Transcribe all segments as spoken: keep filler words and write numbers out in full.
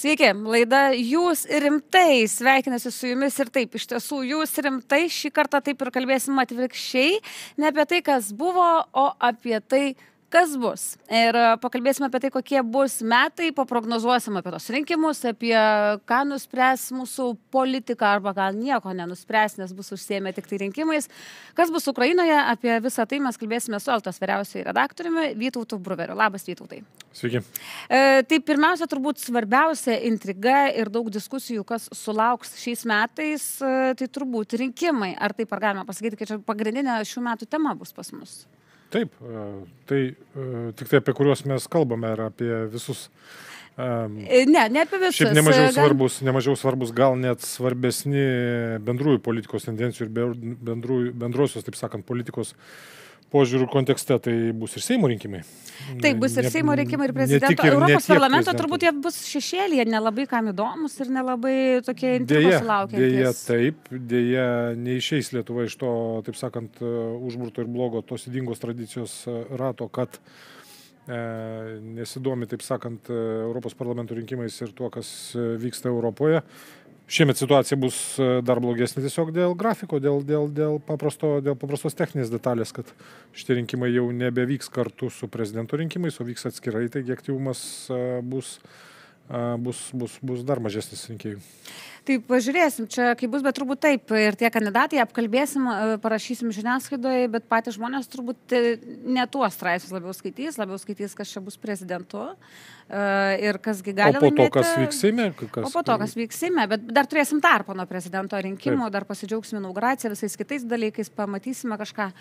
Sveiki, laida Jūs rimtai, sveikinasi su jumis ir taip, iš tiesų Jūs rimtai, šį kartą taip ir kalbėsim atvirkščiai, ne apie tai, kas buvo, o apie tai, kas bus. Ir pakalbėsime apie tai, kokie bus metai, paprognozuosim apie tos rinkimus, apie ką nuspręs mūsų politika, arba gal nieko nenuspręs, nes bus užsiėmę tik tai rinkimais. Kas bus Ukrainoje, apie visą tai mes kalbėsime su Eltos vyriausiuoju redaktoriumi Vytautu Bruveriu. Labas, Vytautai. Sveiki. E, tai pirmiausia, turbūt svarbiausia intriga ir daug diskusijų, kas sulauks šiais metais, e, tai turbūt rinkimai. Ar taip ar galima pasakyti, kad čia pagrindinė šių metų tema bus pas mus? Taip, tai tik tai apie kuriuos mes kalbame ir apie visus. Ne, ne apie visus. Šiaip nemažiau svarbus, nemažiau svarbus, gal net svarbesni bendrųjų politikos tendencijų ir bendrųjų, bendrosios, taip sakant, politikos požiūrių kontekste, tai bus ir Seimo rinkimai. Taip, bus ir ne, Seimo rinkimai ir prezidento. Ir Europos parlamento turbūt jie bus šešėlyje, nelabai kam įdomus ir nelabai tokie intrigos sulaukiantys. Dėja, taip, dėja neišeis Lietuva iš to, taip sakant, užburto ir blogo tos ydingos tradicijos rato, kad e, nesidomi, taip sakant, Europos parlamento rinkimais ir tuo, kas vyksta Europoje. Šiemet situacija bus dar blogesnė tiesiog dėl grafiko, dėl, dėl, dėl, paprasto, dėl paprastos techninės detalės, kad šitie rinkimai jau nebevyks kartu su prezidento rinkimais, o vyks atskirai, taigi aktyvumas bus, bus, bus, bus dar mažesnis rinkėjų. Tai pažiūrėsim, čia kaip bus, bet turbūt taip, ir tie kandidatai apkalbėsim, parašysim žiniasklaidoje, bet patys žmonės turbūt ne tuos straipsnius labiau skaitys, labiau skaitys, kas čia bus prezidentu ir kasgi gali laimėti. O po to, kas vyks Seime? O po to, kas vyks Seime, bet dar turėsim tarpą nuo prezidento rinkimų, taip. Dar pasidžiaugsime inauguraciją, visais kitais dalykais, pamatysime kažką.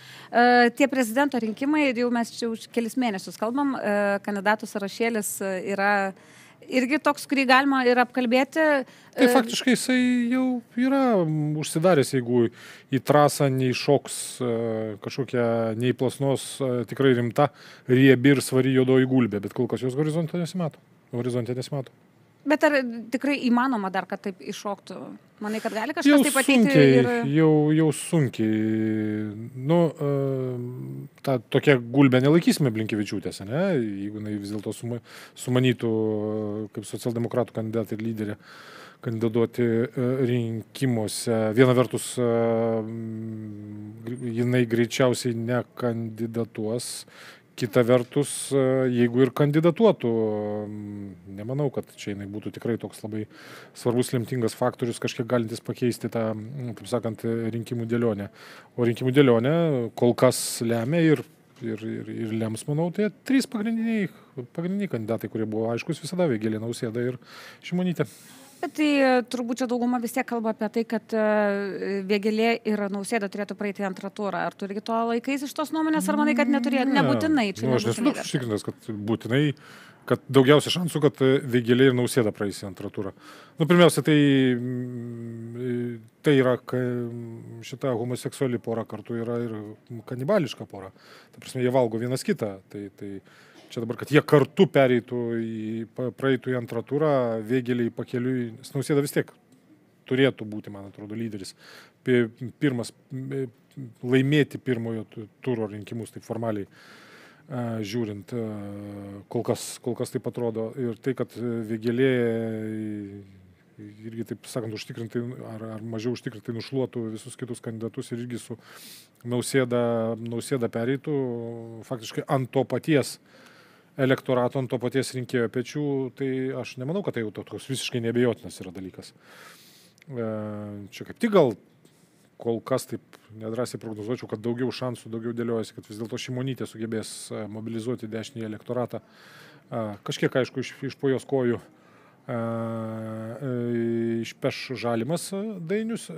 Tie prezidento rinkimai, jau mes čia už kelis mėnesius kalbam, kandidatų sąrašėlis yra irgi toks, kurį galima ir apkalbėti. Tai faktiškai jisai jau yra užsidaręs, jeigu į trasą neiššoks kažkokia neįplasnos, tikrai rimta, riebi ir svari juodoji gulbė, bet kol kas jos horizonte nesimato. Horizonte nesimato. Bet ar tikrai įmanoma dar, kad taip iššoktų? Manai, kad gali kažkas jau taip ateiti? Sunkiai, ir... jau, jau sunkiai. Nu, tą tokią gulbę nelaikysime Blinkevičiūtės, ne? Jeigu jinai vis dėlto suma, sumanytų kaip socialdemokratų kandidatė ir lyderė kandidatuoti rinkimuose. Viena vertus, jinai greičiausiai nekandidatuos. Kita vertus, jeigu ir kandidatuotų, nemanau, kad čia jinai būtų tikrai toks labai svarbus, lemtingas faktorius, kažkiek galintis pakeisti tą, taip sakant, rinkimų dėlionę. O rinkimų dėlionę kol kas lemia ir, ir, ir, ir lems, manau, tai trys pagrindiniai, pagrindiniai kandidatai, kurie buvo aiškus visada, Vėgėlė, Nausėda ir Šimonytė. Tai turbūt čia dauguma vis tiek kalba apie tai, kad Vėgėlė ir Nausėda turėtų praeiti antrą turą. Ar tu irgi to laikais iš tos nuomonės, ar manai, kad neturėtų, ne, nebūtinai? Čia nu, aš nesu toks užtikrintas, kad būtinai, kad daugiausia šansų, kad Vėgėlė ir Nausėda praeis į antrą turą. Nu, pirmiausia, tai, tai yra šita homoseksuali pora kartu yra ir kanibališka pora. Ta prasme, jie valgo vienas kitą. Tai, tai čia dabar, kad jie kartu pereitų į, praeitų į antrą turą, Vėgėlei pakeliui, Nausėda vis tiek turėtų būti, man atrodo, lyderis. Pirmas, laimėti pirmojo turo rinkimus, taip formaliai žiūrint, kol kas, kol kas taip atrodo. Ir tai, kad Vėgėlė irgi, taip sakant, užtikrintai ar, ar mažiau užtikrintai nušluotų visus kitus kandidatus ir irgi su Nausėda, Nausėda pereitų faktiškai ant to paties elektorato, ant to paties rinkėjo pečių, tai aš nemanau, kad tai jau toks visiškai neabejotinas yra dalykas. Čia kaip tik gal kol kas taip nedrąsiai prognozuočiau, kad daugiau šansų, daugiau dėliojasi, kad vis dėlto Šimonytė sugebės mobilizuoti dešinį elektoratą. Kažkiek, aišku, iš, iš po jos kojų išpeš Žalimas Dainius,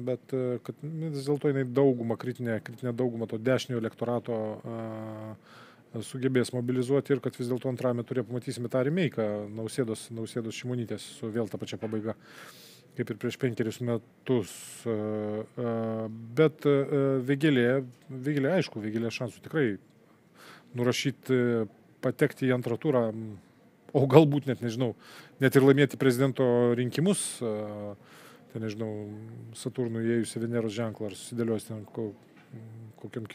bet kad vis dėlto jinai daugumą, kritinę, kritinę daugumą to dešinio elektorato sugebės mobilizuoti ir kad vis dėlto antrame turė pamatysime tą remeiką Nausėdos, Nausėdos Šimonytės su vėl ta pačia pabaiga, kaip ir prieš penkerius metus. Bet Vėgėlė, Vėgėlė aišku, Vėgėlė šansų tikrai nurašyti, patekti į antrą turą, o galbūt net, nežinau, net ir laimėti prezidento rinkimus, tai nežinau, Saturnui įėjus į Veneros ženklą ar susidėlios ten kokiam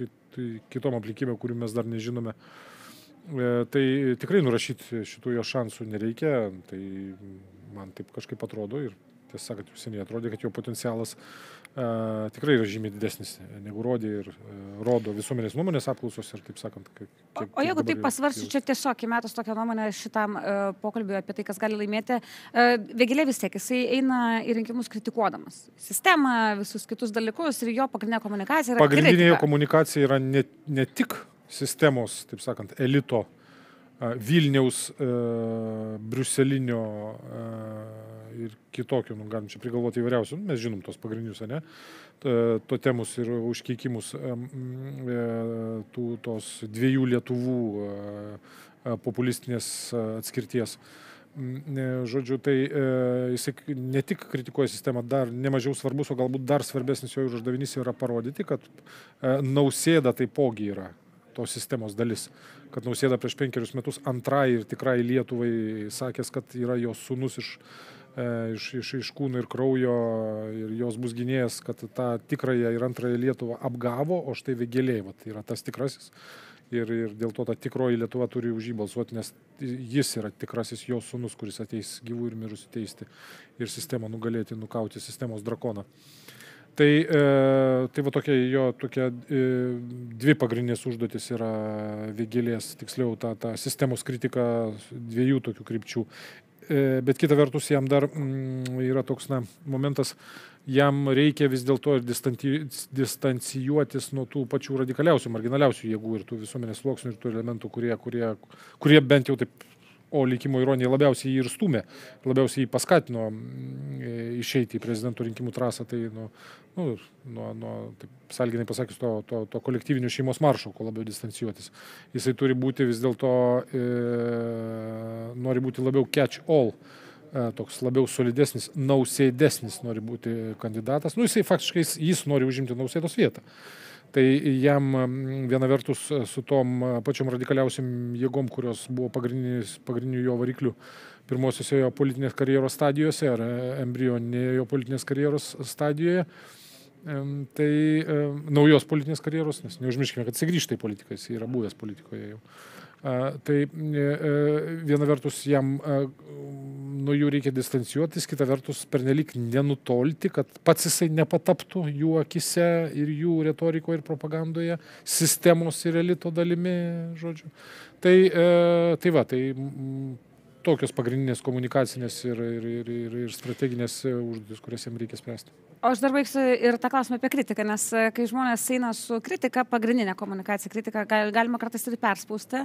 kitom aplinkybėm, kurių mes dar nežinome. Tai tikrai nurašyti šitų jo šansų nereikia. Tai man taip kažkaip atrodo ir tiesą sakant, jau seniai atrodė, kad jo potencialas uh, tikrai yra žymiai didesnis negu rodė ir uh, rodo visuomenės nuomonės apklausos ir taip sakant. Kiek, kiek, o jeigu taip pasvarsiu, čia tiesiog įmetus tokią nuomonę šitam uh, pokalbiui apie tai, kas gali laimėti, uh, Vėgėlė vis tiek, jisai eina į rinkimus kritikuodamas sistemą, visus kitus dalykus ir jo pagrindinė komunikacija yra pagrindinė kritika. jo komunikacija yra ne, ne tik sistemos, taip sakant, elito, uh, Vilniaus, uh, briuselinio uh, ir kitokių, nu, galim čia prigalvoti įvairiausių, mes žinom tos pagrindinius, ne, totemus ir užkeikimus tų, tos dviejų Lietuvų populistinės atskirties. Žodžiu, tai jis ne tik kritikuoja sistemą, dar nemažiau svarbus, o galbūt dar svarbesnis jo uždavinys yra parodyti, kad Nausėda taipogi yra tos sistemos dalis. Kad Nausėda prieš penkerius metus antrai ir tikrai Lietuvai sakęs, kad yra jos sūnus iš Iš, iš, iš kūno ir kraujo ir jos bus gynėjas, kad tą tikrąją ir antrąją Lietuvą apgavo, o štai Vėgėlė, tai yra tas tikrasis. Ir, ir dėl to ta tikroji Lietuva turi už jį balsuoti, nes jis yra tikrasis jos sūnus, kuris ateis gyvų ir mirusių teisti ir sistemą nugalėti, nukauti sistemos drakoną. Tai, e, tai va tokia jo tokia e, dvi pagrindinės užduotis yra Vėgėlės, tiksliau ta, ta sistemos kritika dviejų tokių krypčių. Bet kita vertus, jam dar mm, yra toks na, momentas, jam reikia vis dėlto ir distancijuotis nuo tų pačių radikaliausių, marginaliausių jėgų ir tų visuomenės sluoksnių ir tų elementų, kurie, kurie, kurie bent jau taip, o likimo ironija labiausiai jį ir stumė, labiausiai jį paskatino išeiti į prezidento rinkimų trasą, tai nu, nu, nuo, nuo taip, salginai pasakius, to, to, to kolektyvinių šeimos maršo, ko labiau distancijuotis. Jisai turi būti vis dėlto, e, nori būti labiau catch all, e, toks labiau solidesnis, nausėdesnis nori būti kandidatas. Nu, jisai faktiškai jis nori užimti Nausėdos vietą. Tai jam viena vertus su tom pačiom radikaliausiam jėgom, kurios buvo pagrindinių jo variklių pirmosiose jo politinės karjeros stadijose ar embrioninėje jo politinės karjeros stadijoje, tai naujos politinės karjeros, nes neužmirškime, kad jis grįžta į politiką, jis yra buvęs politikoje jau. Tai viena vertus jam nuo jų reikia distancijuotis, kita vertus pernelyg nenutolti, kad pats jisai nepataptų jų akise ir jų retorikoje ir propagandoje, sistemos ir elito dalimi, žodžiu. Tai, tai va, tai tokios pagrindinės komunikacinės ir, ir, ir, ir, ir strateginės užduotis, kurias jam reikia spręsti. O aš dar baigsiu ir tą klausimą apie kritiką, nes kai žmonės eina su kritika, pagrindinė komunikacija, kritika galima kartais ir perspausti,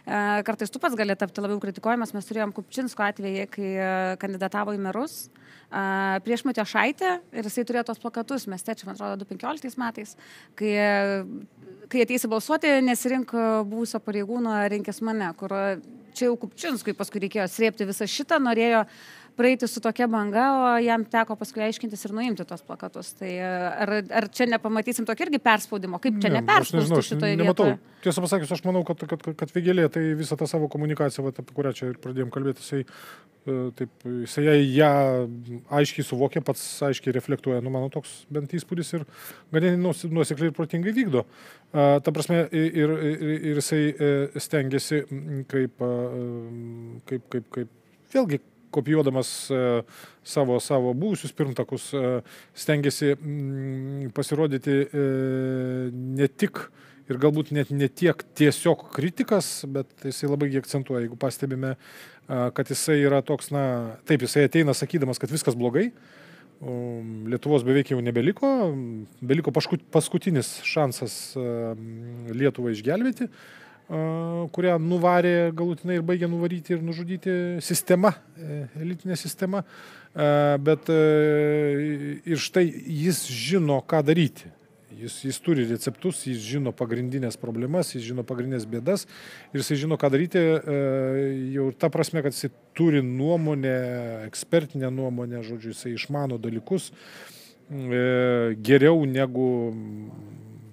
kartais tu pats gali tapti labiau kritikuojamas, mes turėjom Kupčinsko atvejį, kai kandidatavo į merus prieš Matijošaitę ir jisai turėjo tos plakatus miestiečių, man atrodo, du tūkstančiai penkioliktais metais, kai, kai ateisi balsuoti, nesirink buvusio pareigūno, rinkis mane, kur čia jau Kupčinskui paskui reikėjo srėpti visą šitą, norėjo praeiti su tokia banga, o jam teko paskui aiškintis ir nuimti tos plakatus. Tai ar, ar čia nepamatysim tokį irgi perspaudimo? Kaip čia ne, neperspausti šitoje vietoje? Tiesą pasakius, aš manau, kad, kad, kad Vėgėlė tai visą tą savo komunikaciją, va, apie kurią čia ir pradėjom kalbėti, jisai, taip, jisai ją aiškiai suvokė, pats aiškiai reflektuoja, nu mano toks bent įspūdis ir ganėtinai nuosekliai ir protingai vykdo. Ta prasme, ir, ir, ir jisai stengiasi kaip, kaip, kaip, kaip vėlgi, kopijuodamas savo, savo buvusius pirmtakus, stengiasi pasirodyti ne tik ir galbūt net ne tiek tiesiog kritikas, bet jisai labai akcentuoja, jeigu pastebime, kad jisai yra toks, na, taip, jisai ateina sakydamas, kad viskas blogai, Lietuvos beveik jau nebeliko, beliko paskutinis šansas Lietuvą išgelbėti, kurią nuvarė galutinai ir baigė nuvaryti ir nužudyti sistema, elitinė sistema, bet ir štai jis žino, ką daryti. Jis, jis turi receptus, jis žino pagrindinės problemas, jis žino pagrindinės bėdas ir jis žino, ką daryti jau ta prasme, kad jis turi nuomonę, ekspertinę nuomonę, žodžiu, jis išmano dalykus geriau negu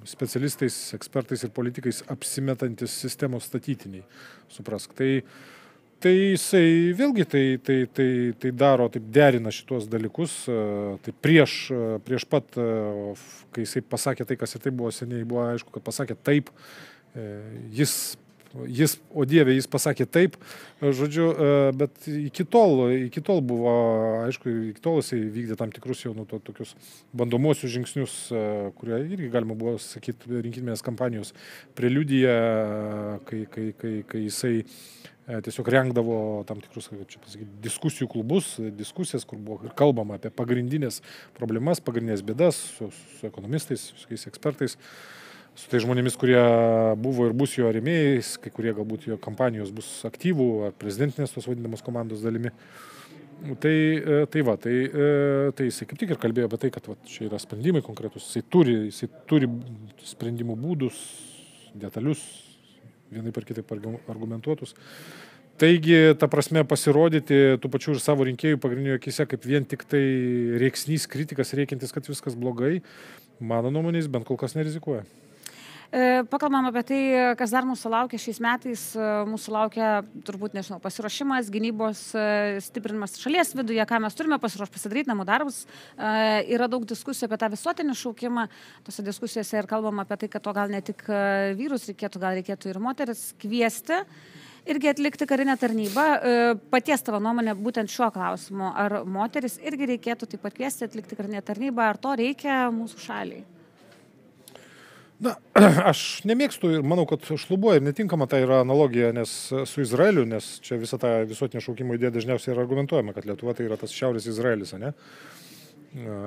specialistais, ekspertais ir politikais apsimetantis sistemos statytiniai, suprask. Tai, tai jisai vėlgi tai, tai, tai, tai daro, taip derina šitos dalykus, tai prieš, prieš pat, kai jisai pasakė tai, kas ir tai buvo seniai, buvo aišku, kad pasakė taip, jis jis, o Dieve, jis pasakė taip, žodžiu, bet iki tol, iki tol buvo, aišku, iki tol jisai vykdė tam tikrus jau nu, to, tokius bandomuosius žingsnius, kurie irgi galima buvo sakyti rinkiminės kampanijos preliudija, kai, kai, kai, kai jisai tiesiog rengdavo tam tikrus, kaip čia pasakyti, diskusijų klubus, diskusijas, kur buvo kalbama apie pagrindinės problemas, pagrindinės bėdas su, su ekonomistais, su tokiais ekspertais, su tai žmonėmis, kurie buvo ir bus jo rėmėjais, kai kurie galbūt jo kampanijos bus aktyvų ar prezidentinės tos vadinamos komandos dalimi. Tai, tai va, tai, tai jisai kaip tik ir kalbėjo apie tai, kad va, čia yra sprendimai konkretus, jisai turi, jisai turi sprendimų būdus, detalius, vienai per kitaip argumentuotus. Taigi, ta prasme, pasirodyti tų pačių ir savo rinkėjų pagrindinių akise kaip vien tik tai rėksnys, kritikas, reikintis, kad viskas blogai, mano nuomonės bent kol kas nerizikuoja. Pakalbam apie tai, kas dar mūsų laukia šiais metais. Mūsų laukia, turbūt, nežinau, pasiruošimas, gynybos stiprinimas šalies viduje, ką mes turime pasiruošti pasidaryti namų darbus. Yra daug diskusijų apie tą visuotinį šaukimą. Tose diskusijose ir kalbam apie tai, kad to gal ne tik vyrus reikėtų, gal reikėtų ir moteris kviesti. Irgi atlikti karinę tarnybą. Paties tavo nuomonė būtent šiuo klausimu. Ar moteris irgi reikėtų taip pat kviesti atlikti karinę tarnybą, ar to reikia mūsų šaliai? Na, aš nemėgstu ir manau, kad šlubuoja ir netinkama tai yra analogija nes su Izraeliu, nes čia visą tą visuotinio šaukimo idėją dažniausiai yra argumentuojama, kad Lietuva tai yra tas šiaurės Izraelis, ne?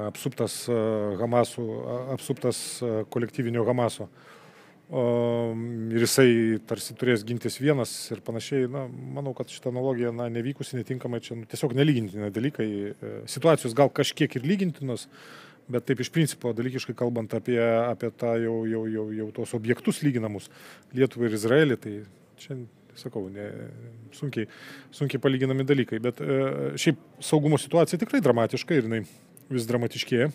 Apsuptas Hamasų, apsuptas kolektyvinio Hamaso. Ir jisai tarsi turės gintis vienas ir panašiai. Na, manau, kad šitą analogiją na, nevykusi, netinkamai, čia nu, tiesiog nelygintina dalykai. Situacijos gal kažkiek ir lygintinos, bet taip iš principo dalykiškai kalbant apie, apie tą jau, jau, jau, jau tos objektus lyginamus Lietuvą ir Izraelį, tai čia, sakau, ne, sunkiai, sunkiai palyginami dalykai. Bet e, šiaip saugumo situacija tikrai dramatiška ir jinai vis dramatiškėja.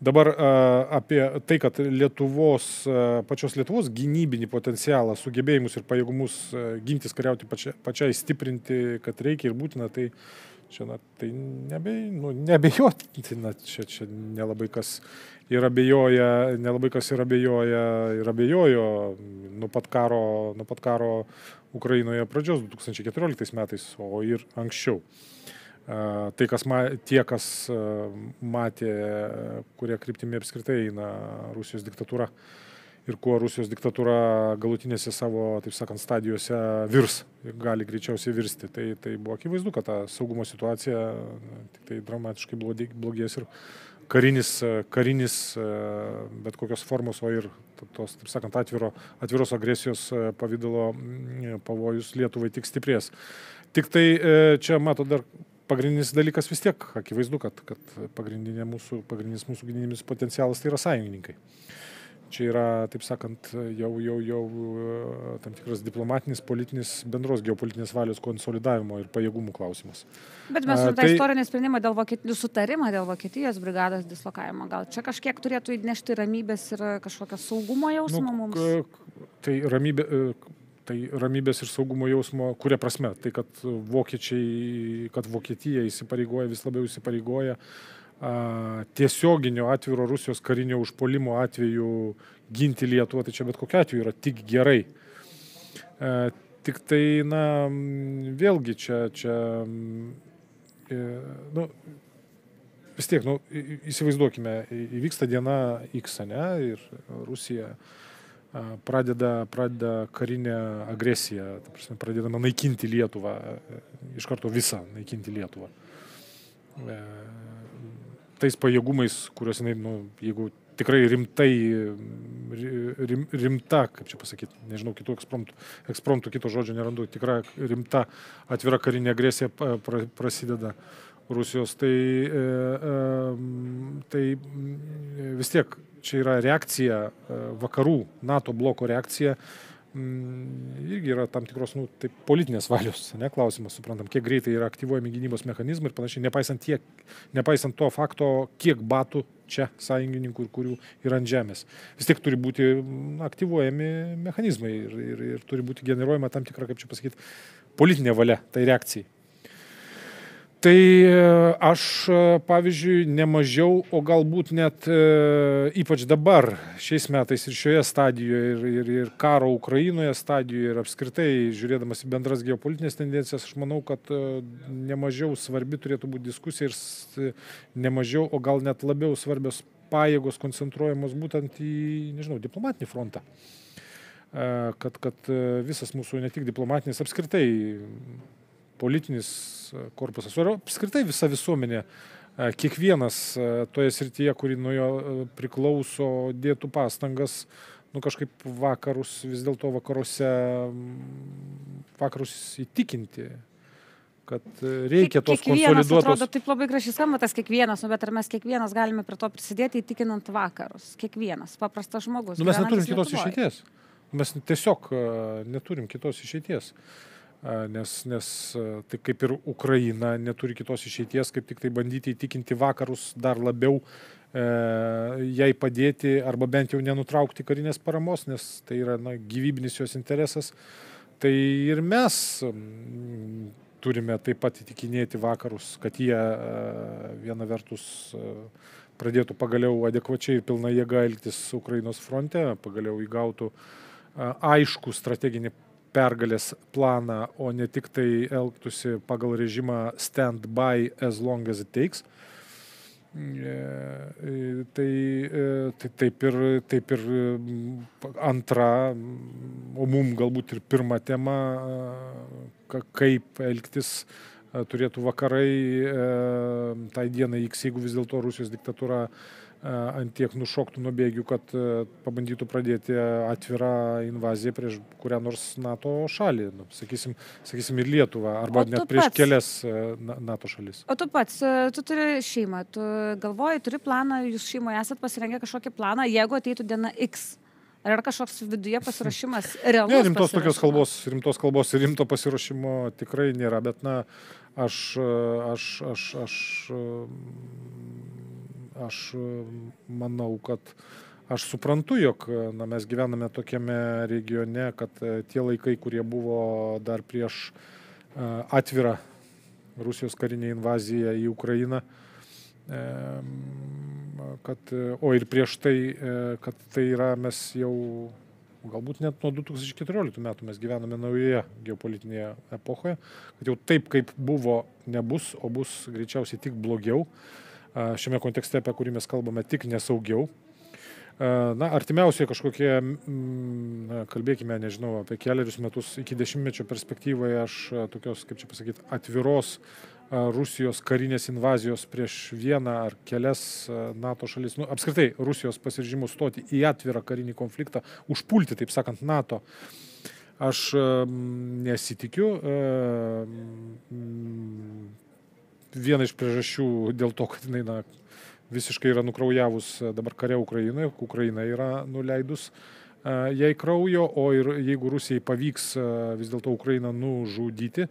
Dabar a, apie tai, kad Lietuvos, a, pačios Lietuvos gynybinį potencialą, sugebėjimus ir pajėgumus a, gintis, kariauti pačia, pačiai stiprinti, kad reikia ir būtina, tai čia, na, tai nebe, nu, nebejotina, čia, čia nelabai kas ir abejoja, nelabai kas ir abejoja, ir abejojo nuo pat karo, nuo pat karo Ukrainoje pradžios du tūkstančiai keturioliktais metais, o ir anksčiau. Tai, kas ma, tie, kas matė, kurie kryptimi apskritai eina Rusijos diktatūra ir kuo Rusijos diktatūra galutinėse savo, taip sakant, stadijose virs, gali greičiausiai virsti. Tai, tai buvo akivaizdu, kad ta saugumo situacija tik tai dramatiškai blogės ir karinis, karinis bet kokios formos, o ir tos, taip sakant, atviro, atviros agresijos pavydalo pavojus Lietuvai tik stiprės. Tik tai čia, mato, dar pagrindinis dalykas vis tiek, akivaizdu, kad, kad pagrindinė mūsų, pagrindinis mūsų gynybinis potencialas tai yra sąjungininkai. Čia yra, taip sakant, jau, jau, jau tam tikras diplomatinis, politinis, bendros geopolitinės valios konsolidavimo ir pajėgumų klausimas. Bet mes turime tą tai... istorinį sprendimą dėl Vokietijos, sutarimą dėl Vokietijos brigados dislokavimo. Gal čia kažkiek turėtų įnešti ramybės ir kažkokio saugumo jausmo nu, mums? Tai, ramybė, tai ramybės ir saugumo jausmo, kuria prasme? Tai, kad vokiečiai, kad Vokietija įsipareigoja, vis labiau įsipareigoja tiesioginio atviro Rusijos karinio užpuolimo atveju ginti Lietuvą, tai čia bet kokiu atveju yra tik gerai. E, tik tai, na, vėlgi čia, čia e, nu, vis tiek, nu, įsivaizduokime, įvyksta diena X, ne, ir Rusija pradeda, pradeda karinę agresiją, ta prasme, pradedama naikinti Lietuvą, iš karto visą naikinti Lietuvą. E, tais pajėgumais, kuriuos jinai, nu, jeigu tikrai rimtai, rim, rimta, kaip čia pasakyti, nežinau, kitų ekspromptų, ekspromptų kito žodžio nerandu, tikra rimta atvira karinė agresija pra, prasideda Rusijos, tai, e, e, tai vis tiek čia yra reakcija, vakarų NATO bloko reakcija, irgi yra tam tikros nu, tai politinės valios, ne, klausimas, suprantam, kiek greitai yra aktyvuojami gynybos mechanizmai ir panašiai, nepaisant, tiek, nepaisant to fakto, kiek batų čia sąjungininkų ir kurių yra ant žemės. Vis tiek turi būti aktyvuojami mechanizmai ir, ir, ir turi būti generuojama tam tikra, kaip čia pasakyti, politinė valia tai reakcijai. Tai aš, pavyzdžiui, nemažiau, o galbūt net ypač dabar, šiais metais ir šioje stadijoje, ir, ir, ir karo Ukrainoje stadijoje, ir apskritai, žiūrėdamas į bendras geopolitinės tendencijas, aš manau, kad nemažiau svarbi turėtų būti diskusija ir nemažiau, o gal net labiau svarbios pajėgos koncentruojamos būtent į, nežinau, diplomatinį frontą. Kad, kad visas mūsų ne tik diplomatinis, apskritai politinis korpusas, o apskritai visa visuomenė, kiekvienas toje srityje, kuri nuo jo priklauso, dėtų pastangas, nu kažkaip vakarus, vis dėlto vakaruose, vakarus įtikinti, kad reikia tos konsoliduotos... Kiekvienas atrodo, taip labai gražiai skamba tas kiekvienas, nu, bet ar mes kiekvienas galime prie to prisidėti įtikinant vakarus? Kiekvienas, paprastas žmogus. Nu, mes neturim kitos išeities. Mes tiesiog neturim kitos išeities. Nes, nes tai kaip ir Ukraina neturi kitos išeities, kaip tik tai bandyti įtikinti vakarus dar labiau e, jai padėti arba bent jau nenutraukti karinės paramos, nes tai yra na, gyvybinis jos interesas. Tai ir mes m, turime taip pat įtikinėti vakarus, kad jie e, viena vertus e, pradėtų pagaliau adekvačiai ir pilna jėga elgtis Ukrainos fronte, pagaliau įgautų e, aišku strateginį pergalės planą, o ne tik tai elgtųsi pagal režimą stand by as long as it takes. Tai, tai taip, ir, taip ir antra, o mum galbūt ir pirma tema, kaip elgtis turėtų vakarai tai dienai X, jeigu vis dėlto Rusijos diktatūra ant tiek nušoktų nuo bėgių, kad pabandytų pradėti atvirą invaziją prieš kurią nors NATO šalį, nu, sakysim, sakysim ir Lietuvą, arba net prieš pats, kelias NATO šalis. O tu pats, tu turi šeimą, tu galvoji, turi planą, jūs šeimoje esat pasirengę kažkokį planą, jeigu ateitų diena X. Ar yra kažkoks viduje pasiruošimas realus? Ne, rimtos tokios kalbos, rimtos kalbos ir rimto pasiruošimo tikrai nėra, bet na, aš, aš, aš, aš, aš manau, kad aš suprantu, jog na, mes gyvename tokiame regione, kad tie laikai, kurie buvo dar prieš atvirą Rusijos karinę invaziją į Ukrainą, kad, o ir prieš tai, kad tai yra mes jau, galbūt net nuo du tūkstančiai keturioliktų metų mes gyvename naujoje geopolitinėje epochoje, kad jau taip, kaip buvo, nebus, o bus greičiausiai tik blogiau. Šiame kontekste, apie kurį mes kalbame, tik nesaugiau. Na, artimiausioje kažkokie, na, kalbėkime, nežinau, apie keliarius metus iki dešimtmečio perspektyvoje aš tokios, kaip čia pasakyti, atviros Rusijos karinės invazijos prieš vieną ar kelias NATO šalis, nu, apskritai Rusijos pasiryžimų stoti į atvirą karinį konfliktą, užpulti, taip sakant, NATO, aš nesitikiu. Viena iš priežasčių dėl to, kad jinai na, visiškai yra nukraujavus dabar kare Ukrainoje, Ukraina yra nuleidus jai kraujo, o ir jeigu Rusijai pavyks vis dėlto Ukrainą nužudyti,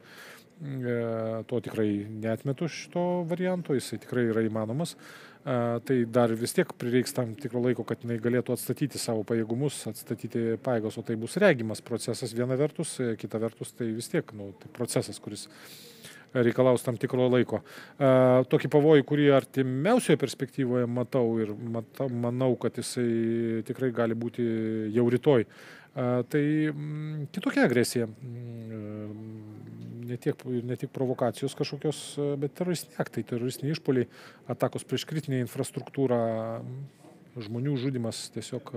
to tikrai neatmetu šito varianto, jisai tikrai yra įmanomas, tai dar vis tiek prireiks tam tikro laiko, kad jinai galėtų atstatyti savo pajėgumus, atstatyti pajėgos, o tai bus regimas procesas viena vertus, kita vertus tai vis tiek nu, tai procesas, kuris reikalaus tam tikro laiko. Tokį pavojų, kurį artimiausioje perspektyvoje matau ir matau, manau, kad jisai tikrai gali būti jau rytoj. Tai kitokia agresija. Ne tiek, ne tik provokacijos kažkokios, bet teroristiniai aktai, teroristiniai išpoliai, atakos prieš kritinę infrastruktūrą, žmonių žudimas tiesiog...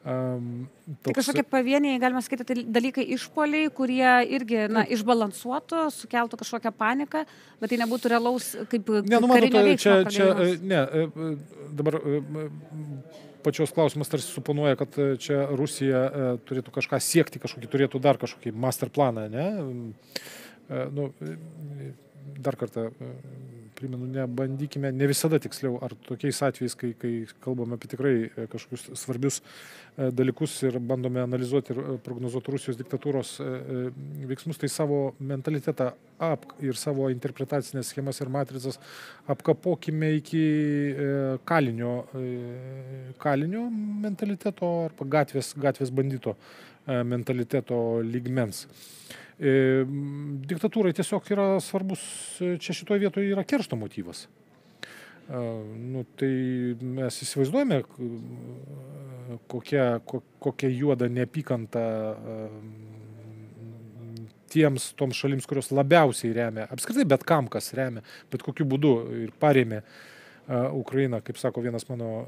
Um, toks... Tai kažkokie pavieniai, galima sakyti, tai dalykai išpoliai, kurie irgi na, išbalansuotų, sukeltų kažkokią paniką, bet tai nebūtų realaus kaip ne, nu, karinio matot, veiksmo čia, čia, pradėjimas. ne, dabar pačios klausimas tarsi suponuoja, kad čia Rusija turėtų kažką siekti, kažkokį turėtų dar kažkokį master planą, ne? Nu, dar kartą primenu, nebandykime, ne visada tiksliau, ar tokiais atvejais, kai, kai kalbame apie tikrai kažkokius svarbius dalykus ir bandome analizuoti ir prognozuoti Rusijos diktatūros veiksmus, tai savo mentalitetą ap, ir savo interpretacinės schemas ir matricas apkapokime iki kalinio, kalinio mentaliteto arba gatvės, gatvės bandito mentaliteto lygmens. Diktatūrai tiesiog yra svarbus, čia šitoje vietoje yra keršto motyvas. Nu, tai mes įsivaizduojame, kokia, kokia juoda neapykanta tiems, toms šalims, kurios labiausiai remia, apskritai bet kam, kas remia, bet kokiu būdu ir parėmė Ukrainą, kaip sako vienas mano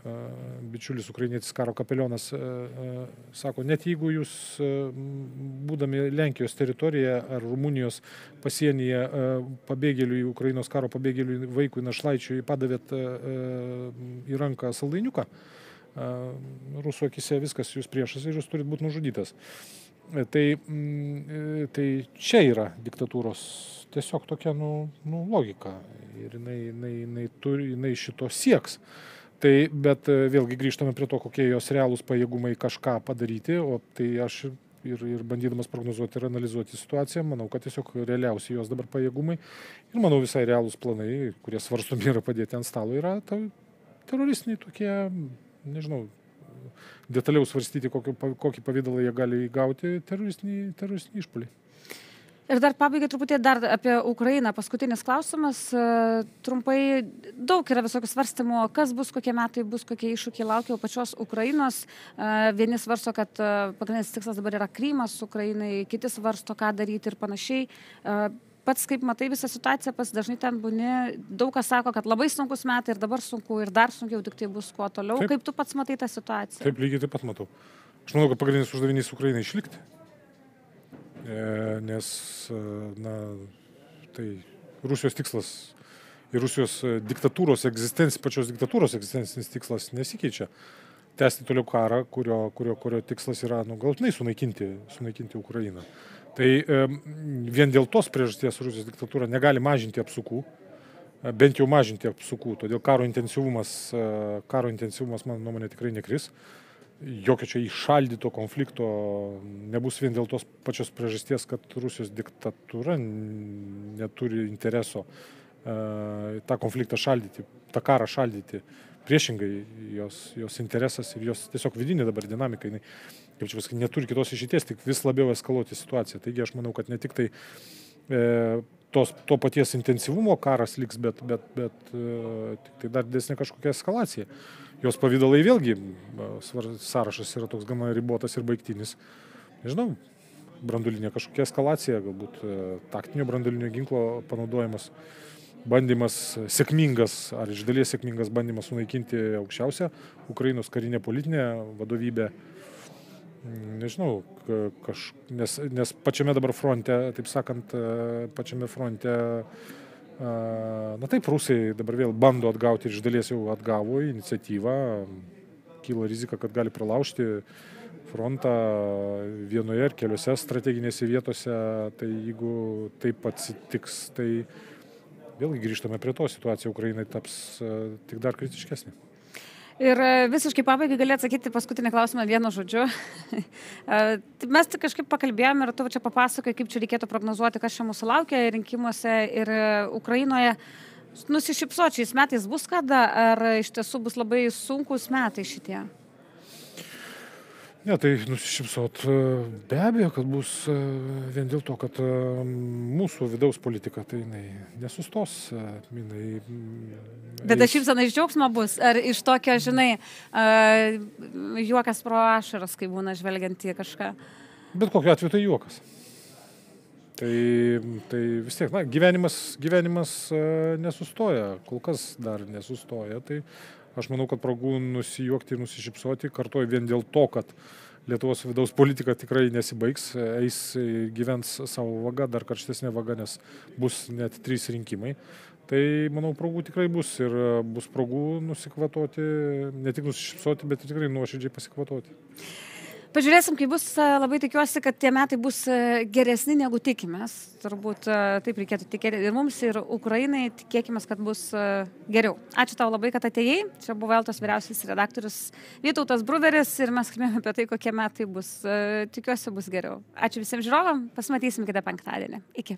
bičiulis, ukrainietis karo kapelionas, sako, net jeigu jūs, būdami Lenkijos teritorijoje ar Rumunijos pasienyje pabėgėliui, Ukrainos karo pabėgėliui vaikui našlaičiui padavėt į ranką saldainiuką, rusų akise viskas, jūs priešas ir jūs turit būti nužudytas. Tai, tai čia yra diktatūros tiesiog tokia nu, nu, logika ir jinai, jinai, jinai, turi, jinai šito sieks. Tai, bet vėlgi grįžtame prie to, kokie jos realūs pajėgumai kažką padaryti, o tai aš ir, ir bandydamas prognozuoti ir analizuoti situaciją, manau, kad tiesiog realiausi jos dabar pajėgumai ir manau visai realūs planai, kurie svarstomi yra padėti ant stalo, yra ta, teroristiniai tokie, nežinau, detaliau svarstyti, kokį, kokį pavydalą jie gali įgauti teroristiniai, teroristiniai išpuoliai. Ir dar pabaigai truputį dar apie Ukrainą. Paskutinis klausimas. Trumpai daug yra visokių svarstymų, kas bus, kokie metai bus, kokie iššūkiai laukia pačios Ukrainos. Vieni svarsto, kad pagrindinis tikslas dabar yra Krymas Ukrainai, kiti svarsto, ką daryti ir panašiai. Pats, kaip matai visą situaciją, pas dažnai ten būni, daug kas sako, kad labai sunkus metai ir dabar sunku ir dar sunkiau, tik tai bus kuo toliau. Taip. Kaip tu pats matai tą situaciją? Taip, lygiai taip pat matau. Aš manau, kad pagrindinis uždavinys Ukrainai išlikti. E, nes, na, tai Rusijos tikslas ir Rusijos diktatūros egzistencija, pačios diktatūros egzistencinis tikslas nesikeičia. Tęsti toliau karą, kurio, kurio, kurio tikslas yra, nu, galutinai sunaikinti, sunaikinti Ukrainą. Tai e, vien dėl tos priežasties Rusijos diktatūra negali mažinti apsukų, bent jau mažinti apsukų, todėl karo intensyvumas, karo intensyvumas, mano nuomonė, tikrai nekris. Jokio čia įšaldyto konflikto nebus vien dėl tos pačios priežasties, kad Rusijos diktatūra neturi intereso e, tą konfliktą šaldyti, tą karą šaldyti. Priešingai, jos, jos interesas ir jos tiesiog vidinė dabar dinamika, jinai, kaip čia pasakyti, neturi kitos išeities, tik vis labiau eskaluoti situaciją. Taigi aš manau, kad ne tik tai e, tos, to paties intensyvumo karas liks, bet, bet, bet e, tik tai dar didesnė kažkokia eskalacija. Jos pavydalai vėlgi, svar, sąrašas yra toks gana ribotas ir baigtinis. Nežinau, branduolinė kažkokia eskalacija, galbūt e, taktinio branduolinio ginklo panaudojimas. Bandymas sėkmingas, ar iš dalies sėkmingas bandymas sunaikinti aukščiausią Ukrainos karinę politinę vadovybę. Nežinau, kaž, nes, nes pačiame dabar fronte, taip sakant, pačiame fronte, na taip, rusai dabar vėl bando atgauti ir iš dalies jau atgavo iniciatyvą. Kyla rizika, kad gali pralaužti frontą vienoje ar keliose strateginėse vietose. Tai jeigu taip atsitiks, tai vėlgi grįžtame prie to, situacija Ukrainai taps uh, tik dar kritiškesnė. Ir uh, visiškai pabaigai gali atsakyti paskutinį klausimą vienu žodžiu. uh, mes tik kažkaip pakalbėjome ir tu čia papasakoji, kaip čia reikėtų prognozuoti, kas čia mūsų laukia rinkimuose ir uh, Ukrainoje. Nusišypsočiais metais bus kada, ar iš tiesų bus labai sunkus metai šitie? Ne, tai nusišypsot be abejo, kad bus vien dėl to, kad mūsų vidaus politika tai jinai nesustos. Jinai, Bet ta šypsena iš džiaugsmo bus? Ar iš tokio, žinai, uh, juokas pro ašaras, kai būna žvelgiant į kažką? Bet kokiu atveju tai juokas. Tai, tai vis tiek, na, gyvenimas, gyvenimas nesustoja, kol kas dar nesustoja. Tai aš manau, kad progų nusijuokti ir nusišypsoti, kartuoju vien dėl to, kad Lietuvos vidaus politika tikrai nesibaigs, eis, gyvens savo vaga, dar karštesnė vaga, nes bus net trys rinkimai. Tai, manau, progų tikrai bus ir bus progų nusikvatoti, ne tik nusišypsoti, bet tikrai nuoširdžiai pasikvatoti. Pažiūrėsim, kai bus, labai tikiuosi, kad tie metai bus geresni negu tikimės. Turbūt taip reikėtų tikėti ir mums, ir Ukrainai. Tikėkime, kad bus geriau. Ačiū tau labai, kad atėjai. Čia buvo Eltos vyriausias redaktorius Vytautas Bruveris ir mes kalbėjome apie tai, kokie metai bus. Tikiuosi, bus geriau. Ačiū visiems žiūrovam. Pasimatysim kitą penktadienį. Iki.